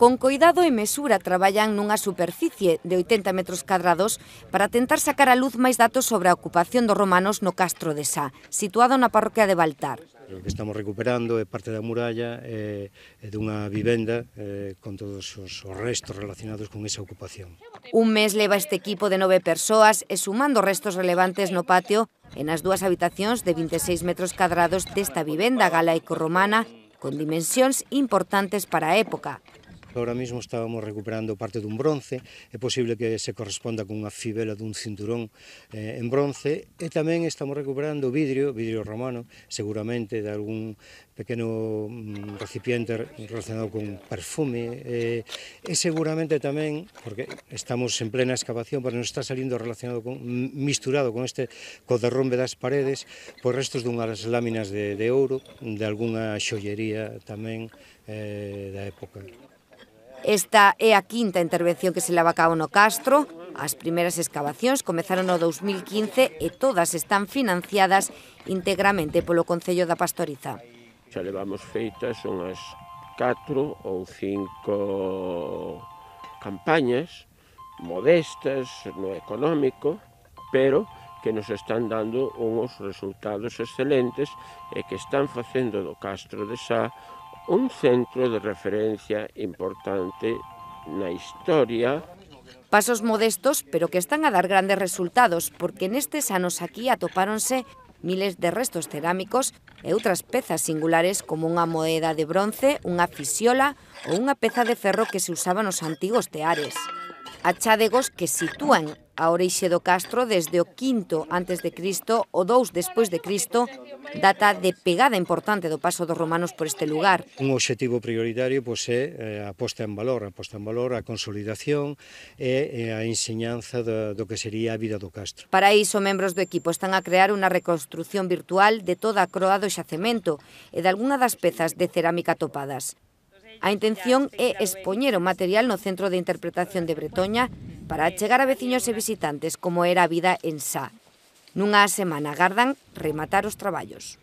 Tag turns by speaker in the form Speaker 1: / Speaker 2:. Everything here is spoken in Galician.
Speaker 1: Con coidado e mesura traballan nunha superficie de 80 metros cadrados para tentar sacar a luz máis datos sobre a ocupación dos romanos no Castro de Sá, situado na parroquia de Baltar.
Speaker 2: O que estamos recuperando é parte da muralla e dunha vivenda con todos os restos relacionados con esa ocupación.
Speaker 1: Un mes leva este equipo de 9 persoas e sumando restos relevantes no patio e nas dúas habitacións de 26 metros cadrados desta vivenda galaico-romana con dimensións importantes para a época.
Speaker 2: Ahora mesmo estábamos recuperando parte dun bronce, é posible que se corresponda con unha fibela dun cinturón en bronce, e tamén estamos recuperando vidrio romano, seguramente de algún pequeno recipiente relacionado con perfume, e seguramente tamén, porque estamos en plena excavación, pero non está salindo misturado con co derrombe das paredes, pois restos dunhas láminas de ouro, de algunha xollería tamén da época.
Speaker 1: Esta é a quinta intervención que se leva a cabo no Castro. As primeiras excavacións comezaron no 2015 e todas están financiadas íntegramente polo Concello da Pastoriza.
Speaker 3: Xa levamos feitas unhas 4 ou 5 campañas modestas no económico, pero que nos están dando uns resultados excelentes e que están facendo do Castro de Sá un centro de referencia importante na historia.
Speaker 1: Pasos modestos, pero que están a dar grandes resultados, porque nestes anos aquí atopáronse miles de restos cerámicos e outras pezas singulares como unha moeda de bronce, unha fisiola ou unha peza de ferro que se usaba nos antigos teares. Achádegos que sitúan a orixe do Castro desde o V a.C. o 2 despois de Cristo, data de pegada importante do paso dos romanos por este lugar.
Speaker 2: Un obxectivo prioritario é a posta en valor, a consolidación e a enseñanza do que sería a vida do Castro.
Speaker 1: Para iso, membros do equipo están a crear unha reconstrucción virtual de toda a croa do xacemento e de algunha das pezas de cerámica topadas. A intención é expoñer o material no Centro de Interpretación de Bretoña para achegar a veciños e visitantes como era a vida en Sá. Nunha semana agardan rematar os traballos.